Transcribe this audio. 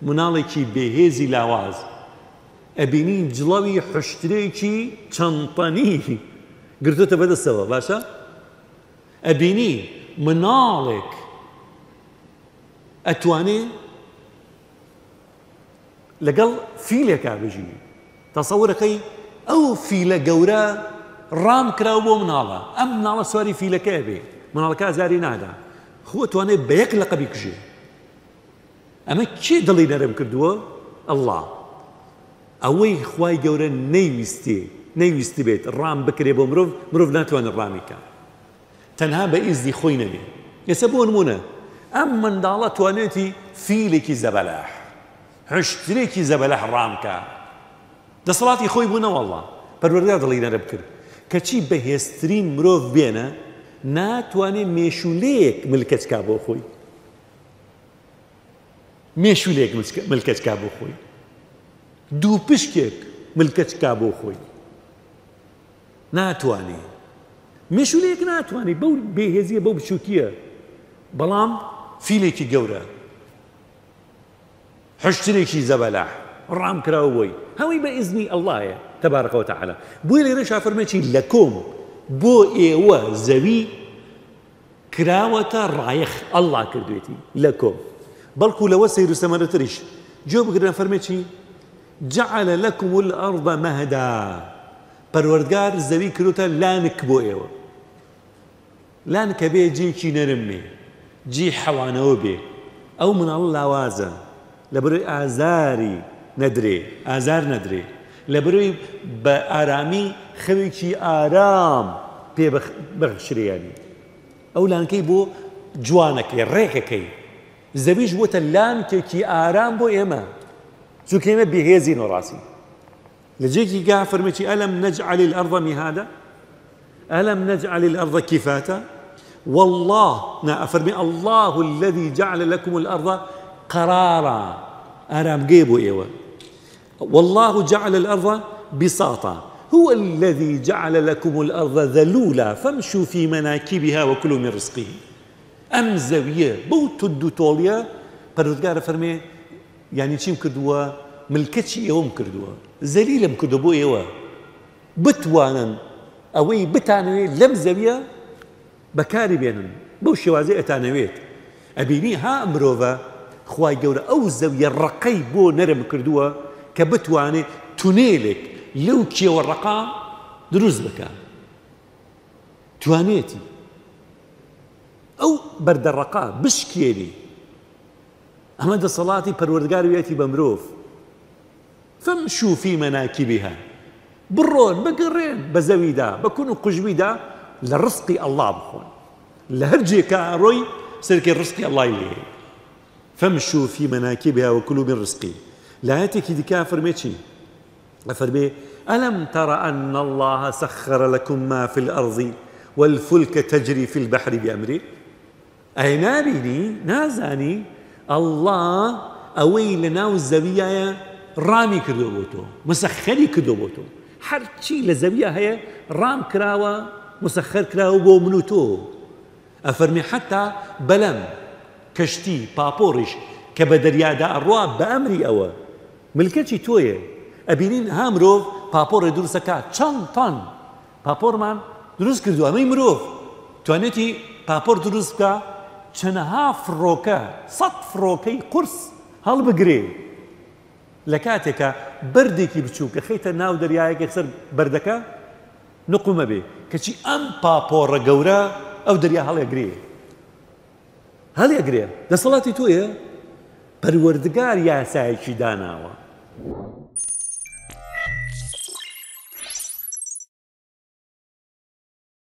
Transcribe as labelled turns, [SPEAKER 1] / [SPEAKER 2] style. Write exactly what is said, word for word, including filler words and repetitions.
[SPEAKER 1] مناڵێکی بێهێزی لاواز ئەبینی جڵەوی حشترێکی چەند تەنی گرتوتە بەدەستەوە. باشە ئەبینی مناڵێک ئەتوانێ لەگەڵ فیلێکا بژی. تەسەورەکەی ئەو فیلە گەورە ڕام کراو بۆ مناڵە، ئەم مناڵە سواری فیلەکەیە بێ، مناڵەکە ئازاری نادا، خۆ توانێت بە یەک لەقەبی کوژێ. ئەمە کێ دڵی نەرم کردووە؟ ئەڵڵا. ئەوەی خوای گەورە نەیویستێ نەیویستی بێت ڕام بکرێ بۆ مرۆڤ، مرۆڤ ناتوانێت ڕامی کە تەنها بە ئیزنی خۆی نەبێ. ئێستا بۆ نمونە ئەم منداڵە توانێتی فیلێکی زەبەلاح، حشترێکی زەبەلاح ڕام کە، دەسەڵاتی خۆی بوو نەوەڵڵا، پەروەردگار دڵی نەرم کرد. کەچی بەهێزترین مرۆڤ بێنە ناتوانێت مێشولەیەک ملکەچکا بۆ خۆی، مێشولەیەک ملکەچکا بۆ خۆی، دوو پشکێک ملکەچکا بۆ خۆی ناتوانێ، مێشولەیەک ناتوانێ بەو بێهێزیە بەو بچووکیە. بەڵام فیلێکی گەورە، حشترێکی زەبەلاح ڕام کراوە بۆی، هەمووی بە ئیزنی ئەڵڵایە تەبارەکە وتەعالا. بۆیە لێرەش فەرمێکی لەکۆم بۆ ئێوە زەوی کراوەتە ڕایەخ، ئەڵڵا کردوێتی لەکۆم. بەڵکو لەوە سەیر و سەمەرەتریش گوێ بگرن فەرمێکی جعل لكم الأرض مهدا، پەروەردگار زەوی کردوتە لانک بۆ ئێوە. لانکە بێ جێکی نەرم بێ، جێی حەوانەوە بێ. ئەو مناڵە لاوازە لەبەرەوەی ئازاری نەدرێ، ئازار نەدرێ، لەبەرەوەی بە ئارامی خەوێکی ئارام پێ بەخشرێیانی. ئەو لانکەی بۆ جوانەکەی ڕێکەکەی، زەویش بۆتە لانکێکی ئارام بۆ ئێمە، چونکە ئێمە بێهێزین و ڕاستین. لە جێکی گا فەرمێکی ئەلەم نەجعل الأرض مهادا ألم نجعل الأرض كفاتا والله نا أفرمي الله الذي جعل لكم الأرض قرارا أرام جيبوا إيوه والله جعل الأرض بساطا هو الذي جعل لكم الأرض ذلولا فامشوا في مناكبها وكلوا من رزقه. ئەم زەویە بەو توند و تۆڵیە پەروەردگارە فەرمێ یعنی چیم کردووە؟ ملکەچی ئێوەم کردووە، زەلیلم کردووە بۆ ئێوە بتوانن ئەوەی بتانەوێت لەم زەویە بەکاری بێنن بەو شێوازەی ئەتانەوێت. ئەبینی ها مرۆڤە خوای گەورە ئەو زەویە ڕەقەی بۆ نەرم کردووە کە بتوانێت تونێلێک لەو کێوە ڕەقا دروست بکە. توانێتی ئەو بەردە ڕەقا بشکێنی. ئەمە دەسەڵاتی پەروەردگار ویەتی بە مرۆڤ. فامشوا في مناكبها، بڕۆن بگەڕێن بە زەویدا بە کون و قوژبیدا لە ڕزقی ئەڵڵا بخۆن، لە هەر جێکا ڕۆی سەرکەی ڕزقی ئەڵڵای لێ. فامشوا في مناكبها وكلوا من رزقه. لە ئایەتێکی دیکە فەرمێ چی؟ ئەفەرمێ ألم تر أن الله سخر لكم ما في الأرض والفلك تجري في البحر بأمره. ئەی نابینی نازانی ئەڵڵا ئەوەی لەناو زەویایە ڕامی کردو بۆ تۆ، مسەخەری کردو بۆ تۆ. هەرچی لە زەویە هەیە ڕام کراوە، مسەخەر کراوە بۆ من و تۆ. ئەفەرمی حتا بەلەم کەشتی پاپۆڕیش کە بە دەریادا ئەڕوا بە ئەمری ئەوە ملکەچی تۆیە. ئەبینین ها مرۆڤ پاپۆڕێ دروستەکات چەند تەن پاپۆڕمان دروست کردووە. ئەمەی مرۆڤ توانێتی پاپۆر دروست بکە چەنەها فڕۆکە، سەد فڕۆکەی قورس هەڵبگرێ لە کاتێکە بەردێکی بچووکە خەیتە ناو دەریایەکێک سەر بەردەکە نقومە بێ، کەچی ئەم پاپۆڕە گەورە ئەو دەریا هەڵێگرێ هەڵێگرێ. دەسەڵاتی تۆیە، پەروەردگار یاسایەکی داناوە.